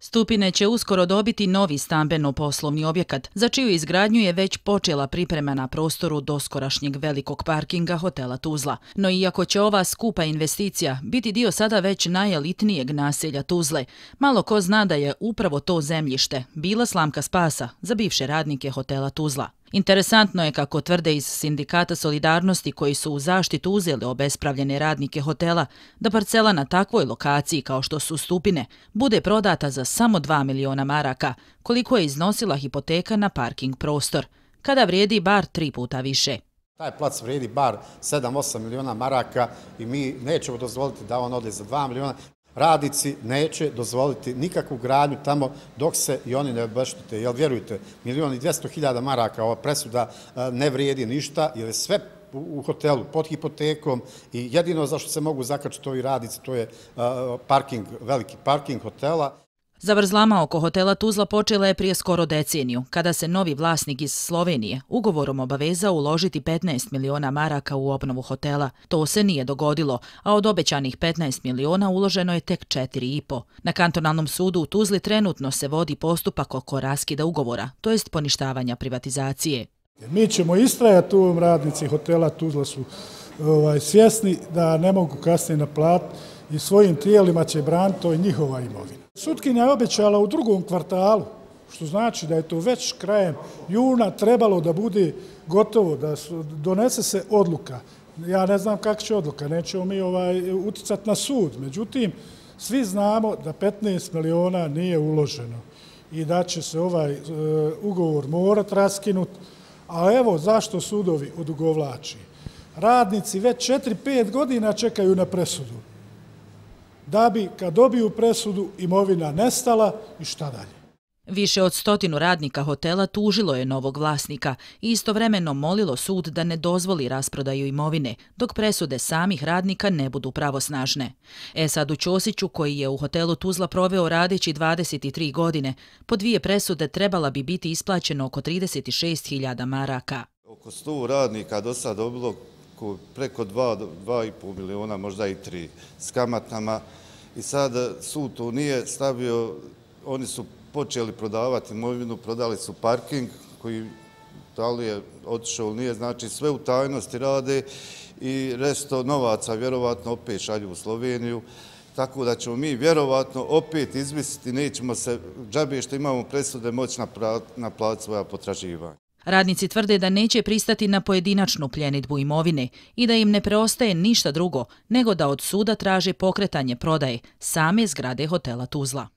Stupine će uskoro dobiti novi stambeno-poslovni objekat, za čiju izgradnju je već počela priprema na prostoru doskorašnjeg velikog parkinga hotela Tuzla. No iako će ova skupa investicija biti dio sada već najelitnijeg naselja Tuzle, malo ko zna da je upravo to zemljište bila slamka spasa za bivše radnike hotela Tuzla. Interesantno je, kako tvrde iz Sindikata Solidarnosti koji su u zaštitu uzeli obespravljene radnike hotela, da parcela na takvoj lokaciji kao što su Stupine bude prodata za samo 2 miliona maraka, koliko je iznosila hipoteka na parking prostor, kada vrijedi bar 3 puta više. Taj plac vrijedi bar 7-8 miliona maraka i mi nećemo dozvoliti da on ode za 2 miliona. Radnici neće dozvoliti nikakvu gradnju tamo dok se i oni ne obeštete. Jer vjerujte, 1.200.000 maraka ova presuda ne vrijedi ništa, jer je sve u hotelu pod hipotekom i jedino za što se mogu zakačiti ovi radnici to je parking, veliki parking hotela. Zavrzlama oko hotela Tuzla počela je prije skoro deceniju, kada se novi vlasnik iz Slovenije ugovorom obavezao uložiti 15 miliona maraka u obnovu hotela. To se nije dogodilo, a od obećanih 15 miliona uloženo je tek 4,5. Na kantonalnom sudu u Tuzli trenutno se vodi postupak oko raskida ugovora, to jest poništavanja privatizacije. Mi ćemo istrajati u ovom, radnici hotela Tuzla su svjesni da ne mogu kasnije naplatiti i svojim tijelima će braniti, to je njihova imovina. Sutkinja je obećala u drugom kvartalu, što znači da je to već krajem juna trebalo da bude gotovo, da donese se odluka. Ja ne znam kakva će odluka, nećemo mi uticati na sud. Međutim, svi znamo da 15 miliona nije uloženo i da će se ovaj ugovor morati raskinuti. A evo zašto sudovi odugovlači. Radnici već 4-5 godina čekaju na presudu, da bi kad dobiju presudu imovina nestala i šta dalje. Više od 100 radnika hotela tužilo je novog vlasnika i istovremeno molilo sud da ne dozvoli rasprodaju imovine, dok presude samih radnika ne budu pravosnažne. Esadu Ćosiću, koji je u hotelu Tuzla proveo radeći 23 godine, po 2 presude trebala bi biti isplaćeno oko 36.000 maraka. Oko 100 radnika do sad dobilo preko 2,5 miliona, možda i 3, s kamatama. I sad sud to nije stavio, oni su počeli prodavati imovinu, prodali su parking koji da li je otišao ili nije, znači sve u tajnosti rade i resto novaca vjerovatno opet šalju u Sloveniju, tako da ćemo mi vjerovatno opet izmisliti, nećemo se džabe što imamo presude moći naplatiti svoja potraživanja. Radnici tvrde da neće pristati na pojedinačnu pljenidbu imovine i da im ne preostaje ništa drugo nego da od suda traže pokretanje prodaje same zgrade hotela Tuzla.